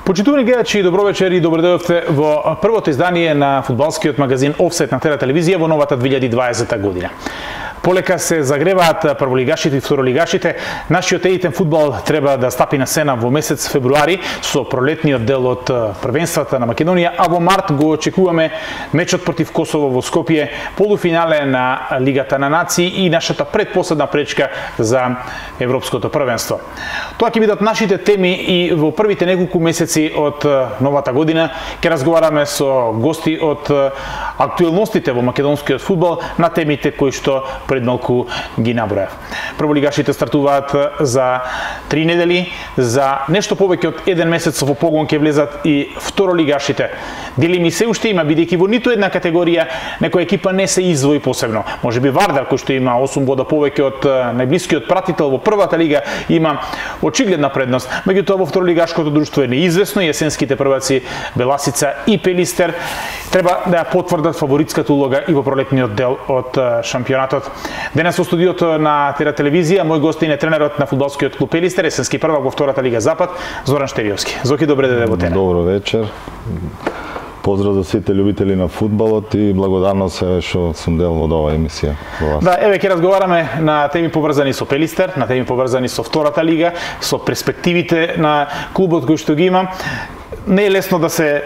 Почитувани гледачи, добро вечер и добро дојдовте во првото издание на фудбалскиот магазин Офсайд на Тера телевизија во новата 2020 година. Полека се загреваат прволигашите и второлигашите. Нашиот елитен фудбал треба да стапи на сцена во месец февруари со пролетниот дел од првенствата на Македонија, а во март го очекуваме мечот против Косово во Скопје, полуфинале на Лигата на нации и нашата предпоследна пречка за европското првенство. Тоа ќе бидат нашите теми и во првите неколку месеци од новата година ќе разговараме со гости од актуелностите во македонскиот фудбал на темите кои што пред малку ги набројав. Прволигашите стартуваат за 3 недели, за нешто повеќе од 1 месец во погон ќе влезат и второлигашите. Дилеми се уште има, бидејќи во ниту една категорија некоја екипа не се издвои посебно. Можеби Вардар, кој што има 8 бода повеќе од најблискиот пратител во првата лига, има очигледна предност. Меѓутоа во второлигашкото друштво е неизвестно и есенските прваци Беласица и Пелистер треба да ја потврдат фаворитската улога и во пролетниот дел од шампионатот. Денес во студиото на Тера телевизија мој гостин е тренерот на фудбалскиот клуб Пелистер, есенски prvак во втората лига Запад, Зоран Штериовски. Зоки, добре дојде во Тера. Добро вечер. Поздрав за сите љубители на фудбалот и благодарност се што сум дел од оваа емисија. Да, еве ќе разговараме на теми поврзани со Пелистер, на теми поврзани со втората лига, со перспективите на клубот кој што ги има. Не е лесно да се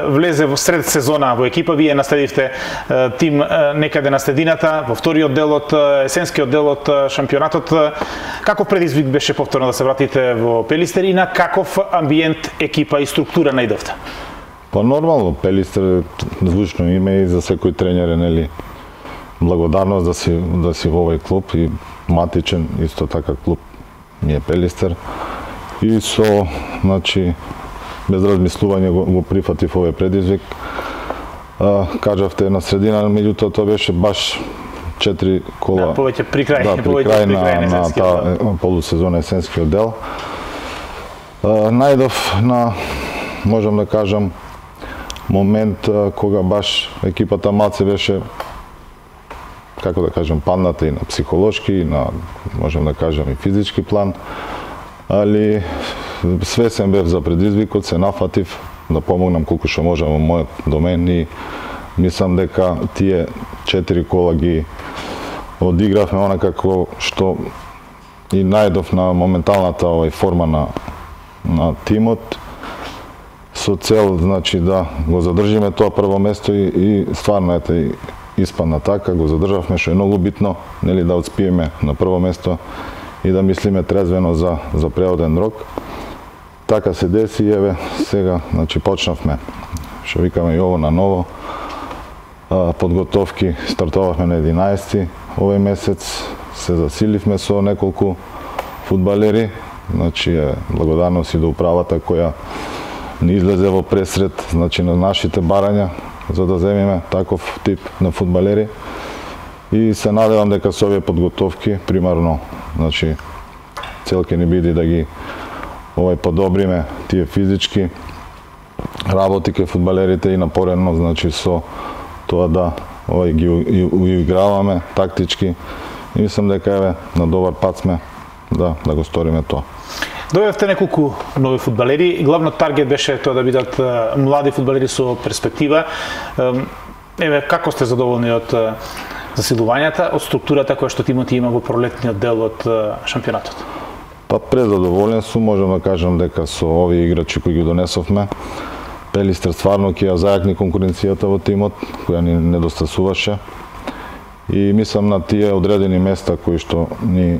влезе во сред сезона во екипа. Вие наследивте тим некаде на средината, во вториот дел од есенскиот дел од шампионатот. Каков предизвик беше повторно да се вратите во Пелистер и на каков амбиент, екипа и структура најдовте? Па нормално, Пелистер е звучно име и за секој тренер е, нели, благодарност да си во овој клуб и матичен исто така клуб ни е Пелистер. И со, значи, без размислување го прифатив овој предизвик. Кажавте на средина, меѓутоа тоа беше баш 4 кола. Да, повеќе при крај, да, при крај на таа полусезона есенскиот дел. Најдов на, можам да кажам, момент кога баш екипата малце беше, како да кажам, падната и на психолошки, и на, можам да кажам, и физички план, али свесен бев за предизвикот, се нафатив да помогнам колку што можам во мојот домен и мислам дека тие 4 кола ги одигравме онакако што и најдов на моменталната форма на тимот со цел, значи, да го задржиме тоа прво место и стварно ете испадна така, го задржавме, што е многу битно, нели, да отспиеме на прво место и да мислиме трезвено за преоден рок. Така се деси, еве, сега, значи, почнавме, што викаме и ово на ново, подготовки, стартувавме на 11 овој месец, се засиливме со неколку фудбалери, значи, благодарност и до управата која ни излезе во пресред, значи, на нашите барања, за да земиме таков тип на фудбалери. И се надевам дека со овие подготовки, примарно, значи, цел ќе ни биде да ги подобриме тие физички работи кај фудбалерите и напорено, значи, со тоа да ги уиграваме тактички. И мислам дека еве на добар пат сме да го сториме тоа. Дојдовте неколку нови фудбалери. Главниот таргет беше тоа да бидат млади фудбалери со перспектива. Еве, како сте задоволни од засилувањата, од структурата која што тимот има во пролетниот дел од шампионатот? Па презадоволен сум, можам да кажам дека со овие играчи кои ги донесовме, Пелистер стварно ќе ја зајакни конкуренцијата во тимот, која ни недостасуваше. И мислам на тие одредени места кои што ни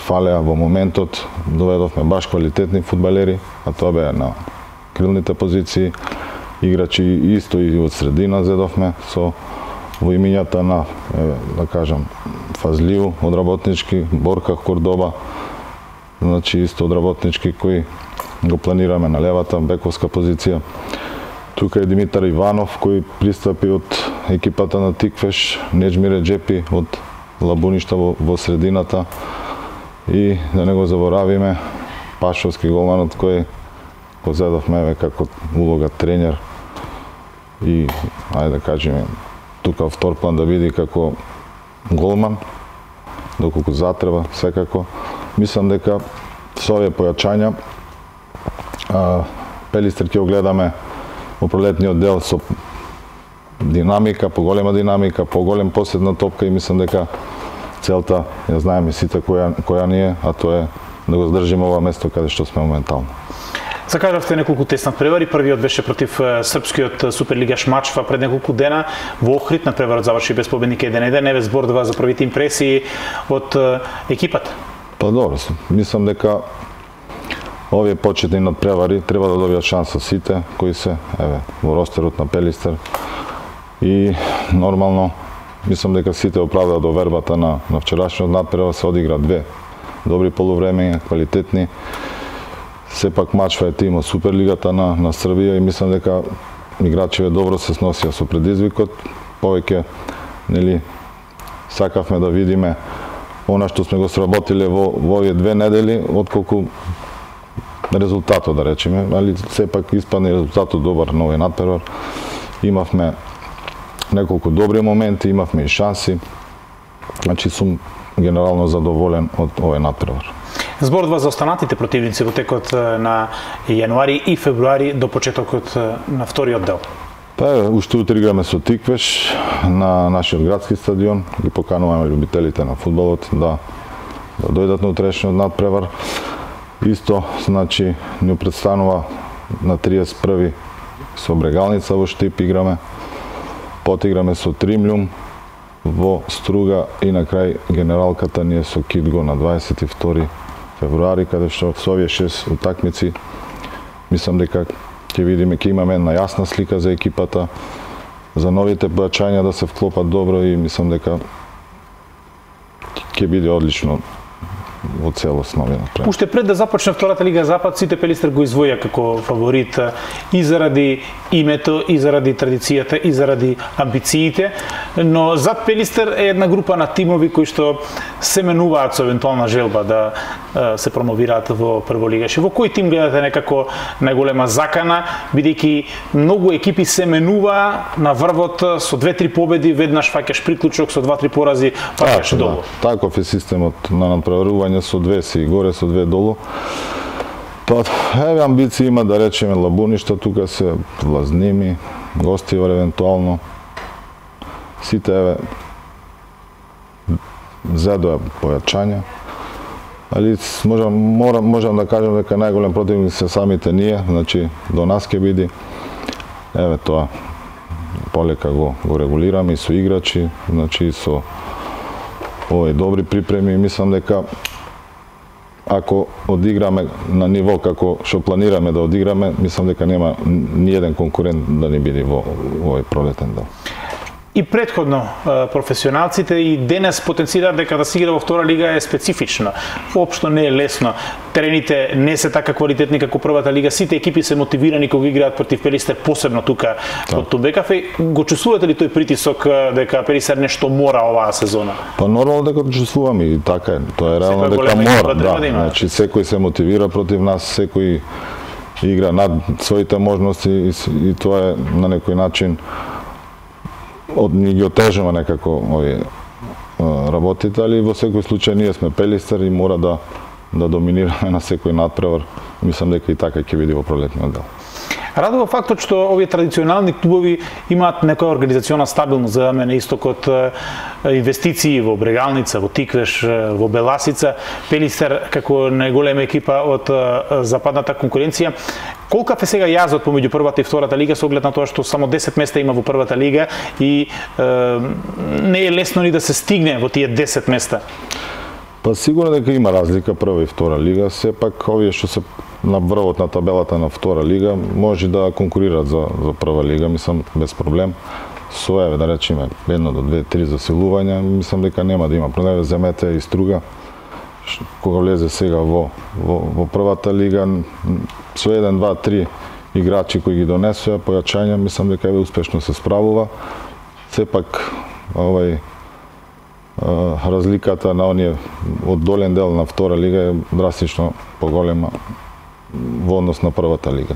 фалеа во моментот, доведовме баш квалитетни фудбалери, а тоа беа на крилните позиции, играчи исто и од средина зедовме со во имињата на, да кажам, Фазлиу од работнички, Борка Кордоба, значи исто од работнички кои го планираме на левата бековска позиција. Тука е Димитар Иванов кој пристапи од екипата на Тиквеш, Неџмире Джепи од Лабуништа во средината и да не го заборавиме Пашовски голманот кој го зедовме како улога тренер и ајде да кажеме тука втор план да види како голман, доколку затреба секако. Мислам дека со овие појачања Пелистер ќе го гледаме во пролетниот дел со динамика, поголема динамика, поголем посед на топка и мислам дека целта ја знаеме сите која ни е, а тоа е да го здржиме ова место каде што сме моментално. Закажавте неколку тесни надпревари, првиот беше против српскиот суперлигаш Мачва пред неколку дена во Охрид, надпреварот заврши без победник 1-1, еве зборува за првите импресии од екипата. Па добро, мислам дека овие почетни надпревари треба да добијат шанса сите кои се во ростерот на Пелистер и нормално мислам дека сите оправдаа довербата на вчерашниот надпревар, се одигра две добри полувреме, квалитетни. Сепак Мачва е тим од Суперлигата на Србија и мислам дека играчите добро се сносија со предизвикот. Повеќе сакавме да видиме она што сме го сработиле во овие 2 недели, отколку резултатот, да речеме, али сепак испадне резултатот добар на овој надпревар. Имавме неколку добри моменти, имавме и шанси. Значи сум генерално задоволен од овој надпревар. Зборува за останатите противници во текот на јануари и февруари до почетокот на вториот дел. Па уште утре играме со Тиквеш на нашиот градски стадион. Ги покануваме љубителите на фудбалот да дојдат на утрешниот надпревар. Исто, значи, ни представува на 31 со Брегалница во Штип играме. Потиграме со Тримљум во Струга и на крај генералката ни е со Кидго на 22 февруари, каде што со овие 6 утакмици мислам дека ќе видиме, ќе имаме една јасна слика за екипата, за новите појачања да се вклопат добро и мислам дека ќе биде одлично во целост нови надпревар. Уште пред да започне втората Лига Запад, сите Пелистер го извоја како фаворит и заради името, и заради традицијата, и заради амбициите, но зад Пелистер е една група на тимови кои што се менуваат со евентуална желба да се промовираат во прволигаш. Во кој тим гледате некако најголема закана, бидејќи многу екипи се менува на врвот со 2-3 победи, веднаш фаќаш приклучок, со 2-3 порази паѓаш долу. Таков е системот на надпреварување, со 2 си горе, со 2 долу. Па, еве амбиции има, да речеме, Лабуништа, тука се Влазними, Гостивар евентуално. Сите, еве, зедоја појачања. Али можам да кажам дека најголем противник се самите ние, значи до нас ќе биде. Еве тоа полека го регулираме и со играчи, значи со овој добри припреми, мислам дека ако одиграме на ниво како што планираме да одиграме, мислам дека нема ни еден конкурент да не биде во овој пролетен дел. И претходно професионалците и денес потенцираат дека да се игра во втора лига е специфично. Воопшто не е лесно. Терените не се така квалитетни како првата лига. Сите екипи се мотивирани кога играат против Пелистер, посебно тука од Тумбекафе. Го чувствувате ли тој притисок дека Пелистер нешто мора оваа сезона? Па нормално дека го чувствуваме и така е. Тоа е реално дека мора, да. Значи секој се мотивира против нас, секој игра над своите можности и тоа е на некој начин ни ги отежува некако овие работите, али во секој случај ние сме Пелистер и мора да доминираме на секој надпревар. Мислам дека и така ќе биде во пролетниот дел. Радува фактот што овие традиционални клубови имаат некоја организациона стабилност, за мене истокот инвестиции во Брегалница, во Тиквеш, во Беласица, Пелистер како најголема екипа од западната конкуренција. Колкав е сега јазот помеѓу првата и втората лига со оглед на тоа што само 10 места има во првата лига и не е лесно ни да се стигне во тие 10 места? Па сигурно дека има разлика прва и втора лига, сепак овие што се на врвот на табелата на втора лига може да конкурираат за прва лига, мислам без проблем. Со еве да речеме 1 до 2, 3 засилувања, мислам дека нема да има проблем. Земете и Струга кога влезе сега во првата лига со 1, 2, 3 играчи кои ги донесоа појачања, мислам дека еве успешно се справува. Сепак овај разликата на оние од долен дел на втора лига е драстично поголема во однос на првата лига,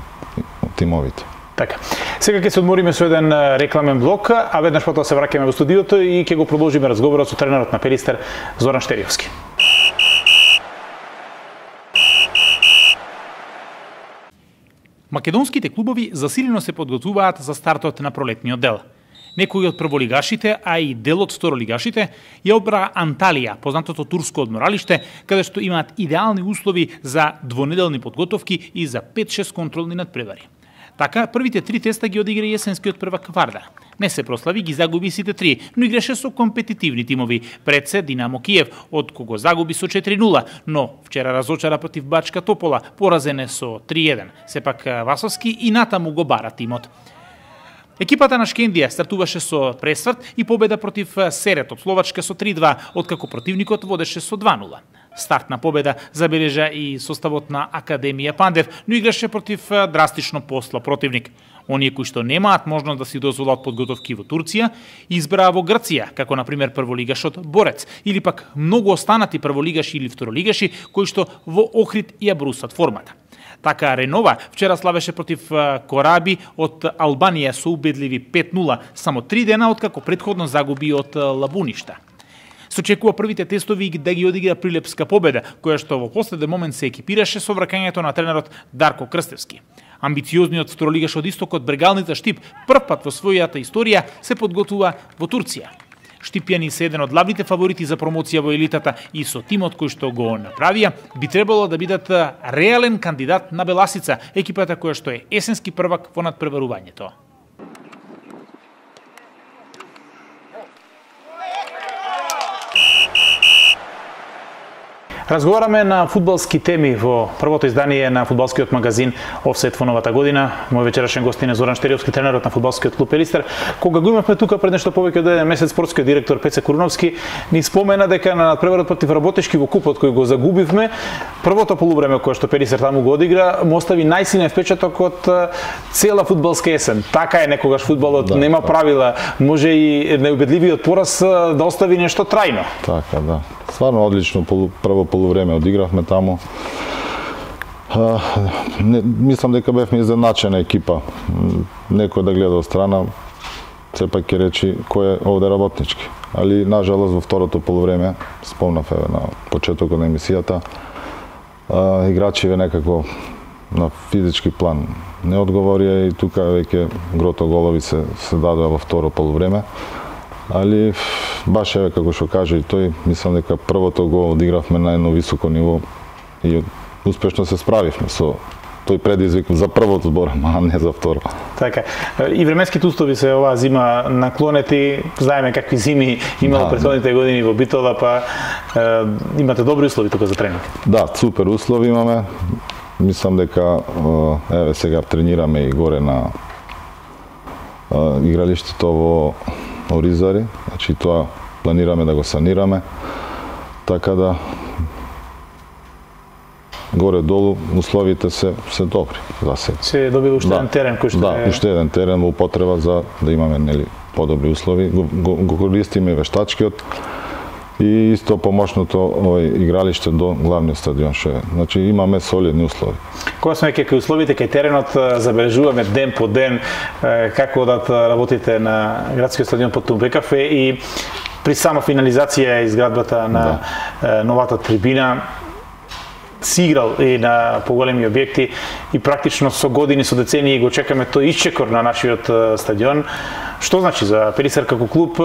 тимовите. Така. Сега ќе се одмориме со еден рекламен блок, а веднаш потоа се враќаме во студиото и ќе го продолжиме разговорот со тренерот на Пелистер Зоран Штериовски. Македонските клубови засилено се подготвуваат за стартот на пролетниот дел. Некои од прволигашите, а и дел од второлигашите, ја одбра Анталија, познатото турско одморалиште, каде што имаат идеални услови за двонеделни подготовки и за 5-6 контролни надпревари. Така, првите 3 теста ги одигра јесенскиот првак Варда. Не се прослави, ги загуби сите 3, но играше со компетитивни тимови. Пред се Динамо Киев, од кого загуби со 4-0, но вчера разочара против Бачка Топола, поразене со 3-1. Сепак Васовски и натаму го бара тимот. Екипата на Шкендија стартуваше со пресврт и победа против Серет од Словачка со 3-2, откако противникот водеше со 2-0. Стартна победа забележа и составот на Академија Пандев, но играше против драстично послаб противник. Оние кои што немаат можност да си дозволат подготовки во Турција, избраа во Грција, како на пример прволигашот Борец, или пак многу останати прволигаши или второлигаши кои што во Охрид ја брусат формата. Така Ренова вчера славеше против Кораби од Албанија со убедливи 5-0, само 3 дена откако претходно загуби од Лабуништа. Се очекува првите тестови да ги одигра прилепска победа, која што во последен момент се екипираше со враќањето на тренерот Дарко Крстевски. Амбициозниот второлигаш од истокот Брегалница Штип првпат во својата историја се подготвува во Турција. Штипјани се еден од главните фаворити за промоција во елитата и со тимот кој што го направија би требало да бидат реален кандидат на Беласица, екипата која што е есенски првак во надпреварувањето. Разговараме на фудбалски теми во првото издание на фудбалскиот магазин Офсет во новата година. Мој вечерашен гостин е Зоран Штериовски, тренерот на фудбалскиот клуб Пелистер. Кога го имавме тука пред нешто повеќе од еден месец, спортскиот директор Пеце Куруновски ни спомена дека на надпреварот против Работешки во купот кој го загубивме, првото полувреме кое што Пелистер таму го одигра, му остави најсилен впечаток од цела фудбалска есен. Така е некогаш фудбалот, нема правила, може и неубедливиот пораз да остави нешто трајно. Така, да. Стварно одлично прво полувреме одигравме таму. Мислам дека бевме изненачена екипа. Некој да гледа од страна, сепак ќе речи кој е овде работнички. Али, нажалост, во второто полувреме, спомнав на почетокот на емисијата, играчиве некако на физички план не одговорија и тука веќе грото голови се дадоа во второ полувреме. Али баш еве како што каже и тој, мислам дека првото го одигравме на едно високо ниво и успешно се справивме со тој предизвик за првото збор, а не за второ. Така. И временските услови се оваа зима наклонети, знаеме какви зими имало претходните години во Битола, па имате добри услови тука за тренинг. Да, супер услови имаме. Мислам дека еве сега тренираме и горе на игралиштето во Оризари, значи тоа планираме да го санираме, така да горе-долу условите се добри за сега. Се добил уште еден терен кој што Да, уште еден терен во употреба за да имаме подобри услови. Го користиме вештачкиот и исто помошното игралиште до главниот стадион што е. Значи имаме солидни услови. Кога сме кај условите кај теренот, забележуваме ден по ден како одат работите на градскиот стадион под Тумбекафе и при сама финализација изградбата на новата трибина си играл и на поголеми објекти и практично со години, со децении го чекаме тој исчекор на нашиот стадион. Што значи за Пелистер како клуб,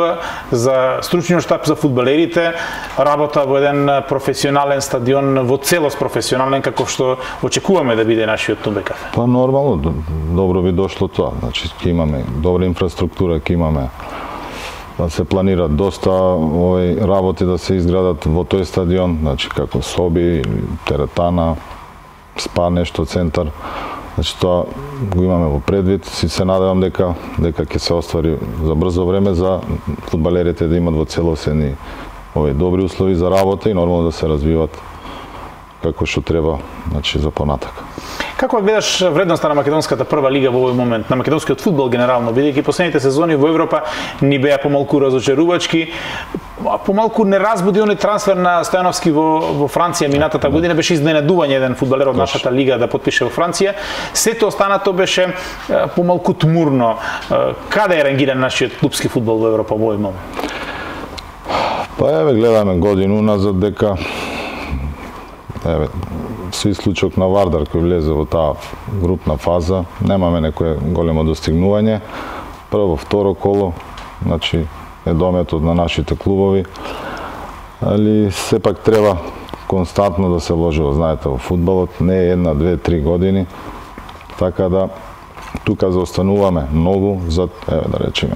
за стручниот штаб, за фудбалерите, работа во еден професионален стадион, во целост професионален, како што очекуваме да биде нашиот Тумбекафе? Па нормално, добро би дошло тоа. Значи, ќе имаме добра инфраструктура, ќе имаме да се планират доста работи да се изградат во тој стадион, значи како соби, теретана, спа нешто, центар. Значи тоа го имаме во предвид, се надевам дека ќе се оствари за брзо време за фудбалерите да имат во целосени добри услови за работа и нормално да се развиват како што треба, значи за понатак. Како гледаш вредноста на македонската прва лига во овој момент, на македонскиот фудбал генерално, бидејќи последните сезони во Европа ни беа помалку разочарувачки, помалку не разбуди оној трансфер на Стојановски во Франција минатата година, беше изненадување еден фудбалер од нашата лига да потпише во Франција. Сето останато беше помалку тмурно. Каде е рангиран нашиот клубски фудбал во Европа во овој момент? Па еве гледаме годину назад дека со исклучок на Вардар кој влезе во таа групна фаза, немаме некое големо достигнување. Прво, второ коло, значи е дометот на нашите клубови, али сепак треба константно да се вложи, знаете, во фудбалот, не е 1, 2, 3 години, така да тука заостануваме многу за, да речеме,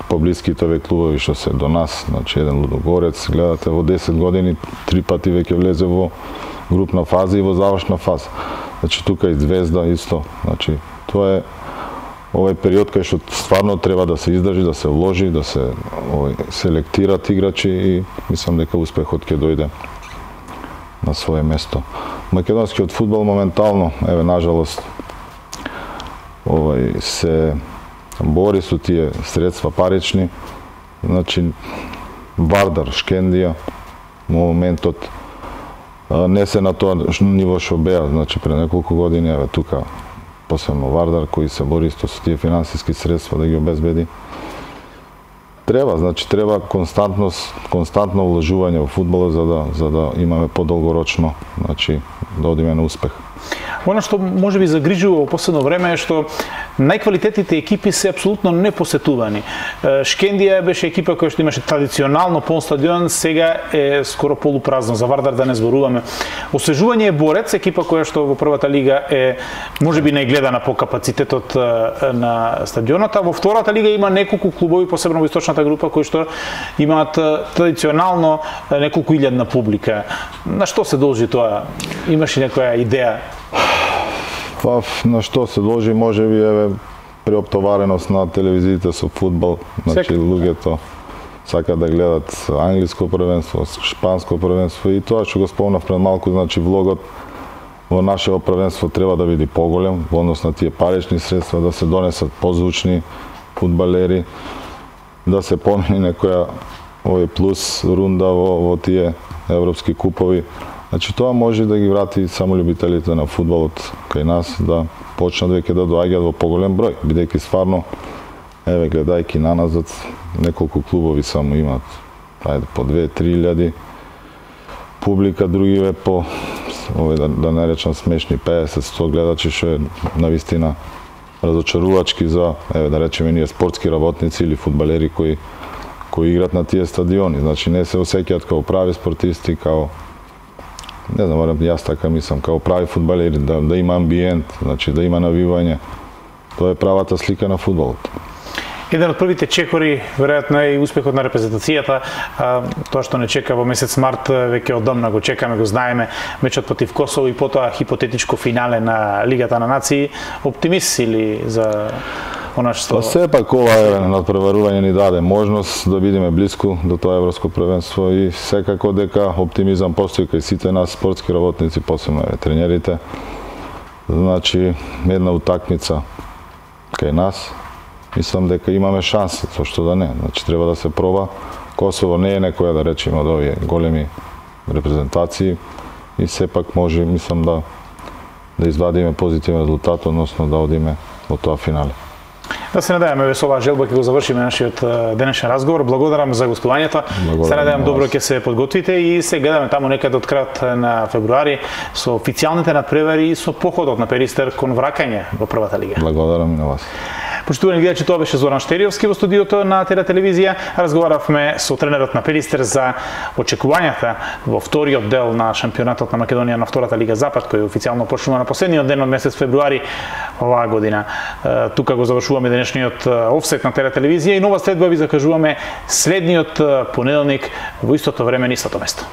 поблиските овие клубови што се до нас, значи еден Лудогорец, гледате во 10 години 3 пати веќе влезе во групна фаза и во завршна фаза. Значи тука и Звезда исто, значи тоа е овој период кај што стварно треба да се издржи, да се вложи, да се селектират играчи и мислам дека успехот ќе дојде на свое место. Македонскиот фудбал моментално, нажалост, се бори со тие средства парични, значи Вардар, Шкендија, моментот не се на тоа ниво што беа, значи пред неколку години, тука посебно Вардар кој се бори со тие финансиски средства да ги обезбеди. Треба константно вложување во фудбалот за да имаме подолгорочно, значи да одиме на успех. Оно што може би загрижува во последно време е што најквалитетните екипи се апсолутно непосетувани. Шкендија беше екипа која што имаше традиционално пон стадион, сега е скоро полупразно, за Вардар да не зборуваме. Освежување е Борец, екипа која што во првата лига е можеби најгледана по капацитетот на стадионот, а во втората лига има неколку клубови, посебно во источната група, кои што имаат традиционално неколку илјадна публика. На што се должи тоа? Имаш ли некоја идеја? На што се должи, може би преоптовареност на телевизиите со фудбал, значи луѓето сакаат да гледат англиско првенство, шпанско првенство и тоа што го спомнав пред малку, значи влогот во нашето првенство треба да биде поголем во однос на тие парични средства, да се донесат позвучни фудбалери, да се помени некоја плюс рунда во тие европски купови. Значи тоа може да ги врати само љубителите на фудбалот кај нас да почнат веќе да доаѓаат во поголем број, бидејќи стварно гледајќи наназад неколку клубови само имаат по 2-3 илјади публика, другиве по да не речам смешни 50-100 гледачи, што е навистина разочарувачки за да речеме ние спортски работници или фудбалери кои играат на тие стадиони. Значи не се осеќаат као прави спортисти, као не знам, јас така мислам, као прави фудбалери, да има амбиент, значи да има навивање. Тоа е правата слика на фудбалот. Еден од првите чекори, веројатно е и успехот на репрезентацијата, тоа што не чека во месец март, веќе одамна го чекаме, го знаеме, мечот против Косово и потоа хипотетичко финале на Лигата на нации. Оптимист си ли за она што... Сепак ова надпреварување ни даде можност да бидеме блиску до тоа европско првенство и секако дека оптимизам постои кај сите нас спортски работници, посебно тренерите. Значи, една утакмица кај нас, мислам дека имаме шанси, зашто да не. Значи, треба да се проба. Косово не е некоја, да речеме, од овие големи репрезентации и сепак може, мислам, да извадиме позитивен резултат, односно да одиме во тоа финале. Да се надеваме со оваа желба ќе го завршиме нашиот денешен разговор. Благодарам за гостувањето. Се надевам добро ќе се подготвите и се гледаме таму некаде од крајот на февруари со официјалните надпревари и со походот на Перистер кон враќање во првата лига. Благодарам и на вас. Почитувани гледачи, тоа беше Зоран Штериовски во студиото на Тера телевизија. Разговаравме со тренерот на Перистер за очекувањата во вториот дел на шампионатот на Македонија на втората лига Запад, кој официјално почнува на последниот ден од месец февруари оваа година. Тука го завршуваме денешниот офсет на Тера телевизија и нова следба ви закажуваме следниот понеделник во истото време на истото место.